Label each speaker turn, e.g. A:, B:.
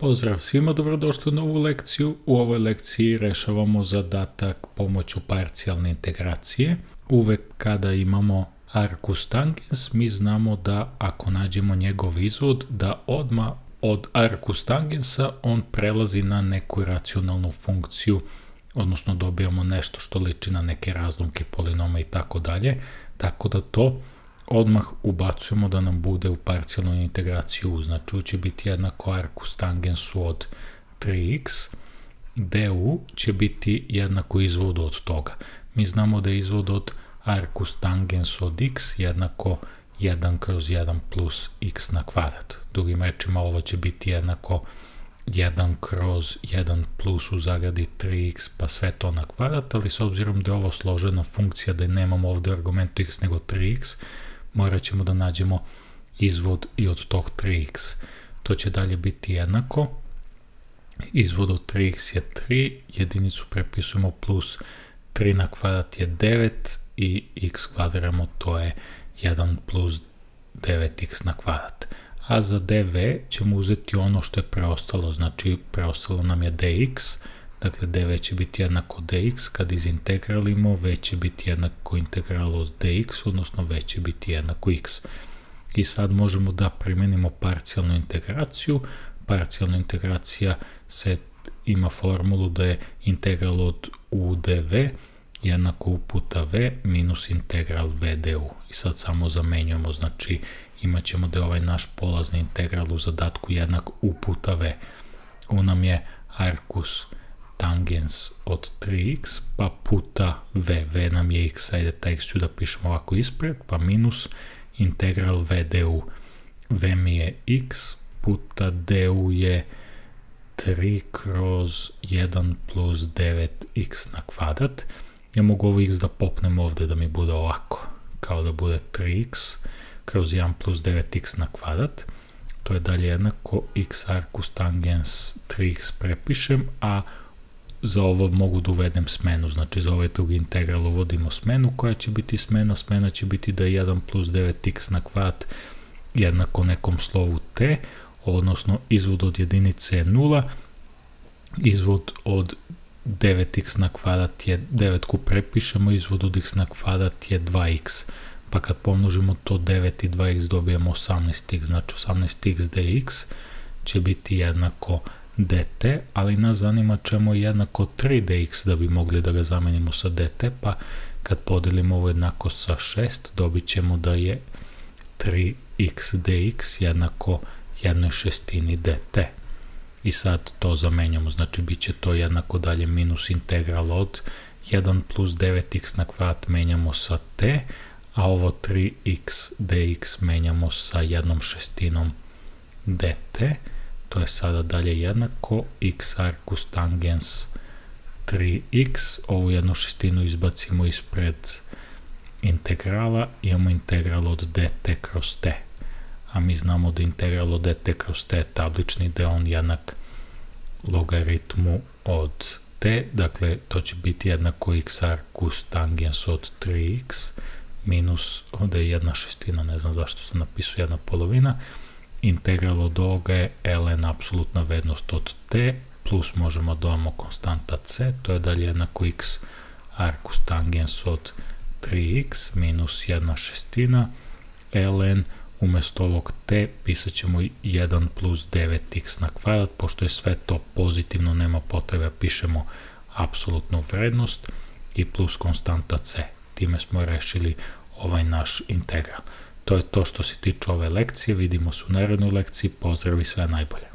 A: Pozdrav svima, dobrodošli u novu lekciju. U ovoj lekciji rešavamo zadatak pomoću parcijalne integracije. Uvek kada imamo arcus tangens, mi znamo da ako nađemo njegov izvod, da odmah od arcus tangensa on prelazi na neku racionalnu funkciju, odnosno dobijamo nešto što liči na neke razlomke polinoma i tako dalje, tako da to odmah ubacujemo da nam bude u parcijalnu integraciju. Znači će biti jednako arcus tangensu od 3x, du će biti jednako izvodu od toga. Mi znamo da je izvod od arcus tangens od x jednako 1 kroz 1 plus x na kvadrat. Drugim rečima ovo će biti jednako 1 kroz 1 plus u zagradi 3x pa sve to na kvadrat, ali s obzirom da je ovo složena funkcija, da nemamo ovdje argumentu x nego 3x, morat ćemo da nađemo izvod i od tog 3x. To će dalje biti jednako. Izvod od 3x je 3, jedinicu prepisujemo plus 3 na kvadrat je 9 i x kvadriramo, to je 1 plus 9x na kvadrat. A za dv ćemo uzeti ono što je preostalo, znači preostalo nam je dx, dakle dv će biti jednako dx, kad izintegralimo v će biti jednako integralu od dx, odnosno v će biti jednako x. I sad možemo da primenimo parcijalnu integraciju. Parcijalna integracija ima formulu da je integral od u dv jednako u puta v minus integral v du. I sad samo zamenjujemo, znači imat ćemo da je ovaj naš polazni integral u zadatku jednak u puta v. U nam je arcus tangens od 3x pa puta v nam je x, ajde taj x ću da pišemo ovako ispred, pa minus integral v du. V mi je x puta du je 3 kroz 1 plus 9x na kvadrat. Ja mogu ovo x da popnem ovdje da mi bude ovako, kao da bude 3x kroz 1 plus 9x na kvadrat. To je dalje jednako x arcus tangens 3x prepišem, a za ovo mogu da uvedem smenu, znači za ovaj drugi integral uvodimo smenu, koja će biti smena će biti da je 1 plus 9x na kvadrat jednako nekom slovu t, odnosno izvod od jedinice je 0, izvod od 9x na kvadrat je 9 prepišemo, izvod od x na kvadrat je 2x, pa kad pomnožimo to 9 i 2x dobijemo 18x, znači 18x dx će biti jednako dt, ali nas zanima čemu je jednako 3dx da bi mogli da ga zamenimo sa dt, pa kad podelimo ovo jednako sa 6 dobit ćemo da je 3x dx jednako 1/6 dt. I sad to zamenjamo, znači bit će to jednako dalje minus integral od 1 plus 9x na kvadrat menjamo sa t, a ovo 3x dx menjamo sa 1/6 dt. To je sada dalje jednako x arcus tangens 3x, ovu 1/6 izbacimo ispred integrala, imamo integral od dt kroz t. A mi znamo da integral od dt kroz t je tablični, da je on jednak logaritmu od t, dakle to će biti jednako x arcus tangens od 3x minus, ovdje je 1/6, ne znam zašto sam napisao 1/2, integral od ovoga je ln apsolutna vrednost od t, plus možemo dodamo konstanta c, to je dalje jednako x arcus tangens od 3x minus 1/6 ln, umjesto ovog t pisat ćemo 1 plus 9x na kvadrat, pošto je sve to pozitivno, nema potrebe, pišemo apsolutnu vrednost i plus konstanta c. Time smo rešili ovaj naš integral. To je to što se tiče ove lekcije, vidimo se u narednoj lekciji, pozdrav i sve najbolje.